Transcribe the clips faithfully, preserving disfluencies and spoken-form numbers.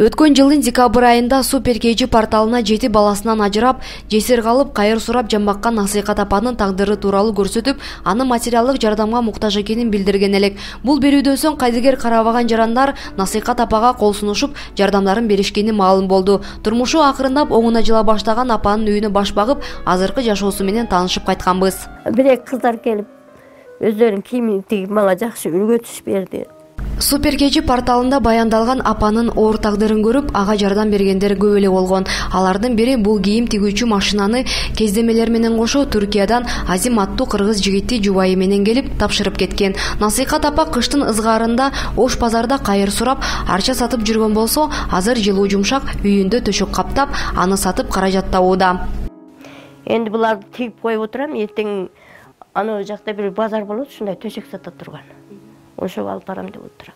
Өткөн жылдын декабрь айында Супер Кэжи порталына жети баласынан ажырап, жесир калып, кайыр сурап жамбаккан Насыйкат апанын тагдыры тууралуу көрсөтүп, аны материалдык жардамга муктаж экенин билдирген элек. Бул берүүдөн соң кайдыгер карабаган жарандар Насыйкат апага кол сунушуп, жардамдарын беришкени маалым болду. Турмушу акырындап оңуна жыла баштаган апанын үйүнө баш багып, азыркы жашоосу менен таанышып кайтканбыз. Бир эки кыздар келип, өздөрүнүн кийимин тигип мага жакшы үлгү түш берди. Супер Кэжи порталында баяндалган апанын оор тагдырын көрүп, ага жардам бергендер көп эле болгон. Алардын бири бул кийим тигүүчү машинаны кездемелер менен кошо Түркиядан Азим аттуу кыргыз жигити жубайы менен келип тапшырып кеткен. Насыйкат апа кыштын ызгаарында Ош базарда кайыр сурап, арча сатып жүргөн болсо, азыр жылуу жумшак үйүндө төшөк каптап, аны сатып каражат табууда. Энди буларды тигип коюп отурам, эртең аны жакта бир базар болот, ушундай төшөк сата турган. Ошого алып барам деп отурам.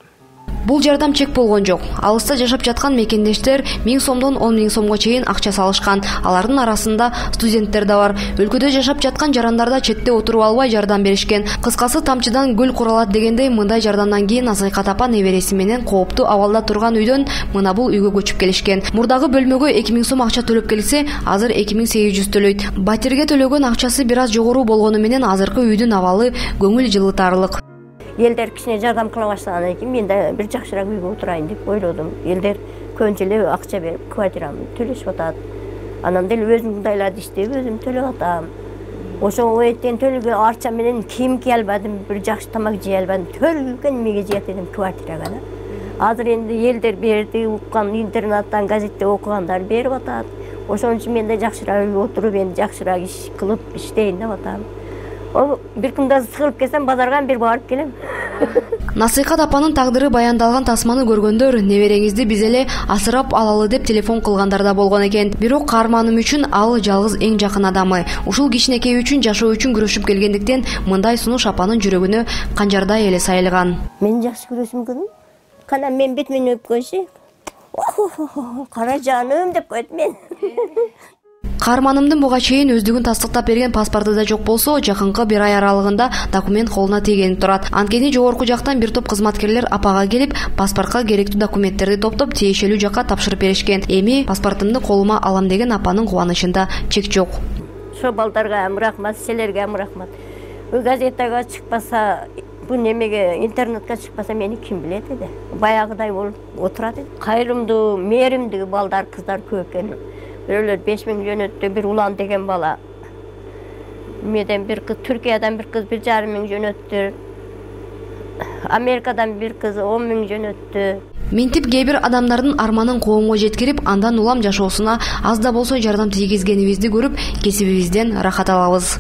Бул жардам чек болгон жок. Алыста жашап жаткан мекендештер миң сомдон он миң сомго чейин акча салышкан. Алардын арасында студенттер да бар. Өлкөдө жашап жаткан жарандар да четте отуруп албай жардам беришкен. Кыскасы тамчыдан гүл куралат дегендей, мындай жардамдан кийин Насыйкат апа небереси менен кооптуу абалда турган үйдөн мына бул үйгө көчүп келишкен. Мурдагы бөлмөгө эки миң сом акча төлөп келсе, азыр эки миң сегиз жүз төлөйт. Батирге төлөгөн акчасы бир аз жогору болгону менен азыркы үйдүн абалы көңүл жылытарлык. Элдер кичине жардам кыла баштагандан кийин мен да бир жакшыраак үйгө отурайын деп ойлодум. Элдер көбүнчө эле акча берип квартирамды төлөшүп атат. Анан деле өзүм мындайларды иштеп, өзүм төлөп атам. Ошого эртең төлгө арча менен кийим кие албадым, бир жакшы тамак жей албадым. Төлгөн эмеге жыят элем квартирага да. Азыр энди элдер берди, уккан интернеттен, газетте окугандар берип атат. Ошон үчүн мен да жакшыраак үйгө отуруп, энди жакшыраак иш кылып иштейин деп атам. О, бир күндө сыгылып келсем, базарга бир барып келем. Насыйкат апанын тагдыры баяндалган тасманы көргөндөр небереңизди биз эле асырап алалы деп телефон кылгандар да болгон экен. Бирок каарманым үчүн ал жалгыз эң жакын адамы. Ушул кичинекей үчүн жашоо үчүн күрөшүп келгендиктен мындай сунуш апанын жүрөгүнө канжардай эле сайылган. Мен жакшы күрөшүм келем. Кана мен бетимен өп койчу. Кара жаным деп койт мен. Каарманымдын буга чейин өздүгүн тастыктап берген паспорту да жок болсо, жакынкы бир ай аралыгында документ колуна тийгенип турат. Анткени жогорку жактан бир топ кызматкерлер апага келип, паспортко керектүү документтерди топтоп, тиешелүү жакка тапшырып беришкен. Эми паспортумду колума алам деген апанын кубанычында чек жок. Ошо балдарга рахмат, силерге рахмат. Газетага чыкпаса, бу немеге интернетке чыкпаса мени ким билет эди? Баягыдай болуп отурат эди. Кайрымдуу, мээримдүү балдар, кыздар көп экен. Бирөөлөр беш миң жөнөттү, бир Улан деген бала. Меден бир кыз, Түркиядан бир кыз бир жарым миң жөнөттү. Америкадан бир кыз он миң жөнөттү. Минтип кээ бир адамдардын арманын коомго жеткирип, андан улам жашоосуна аз да болсо жардам тийгизгенибизди көрүп, кесибибизден рахат алабыз.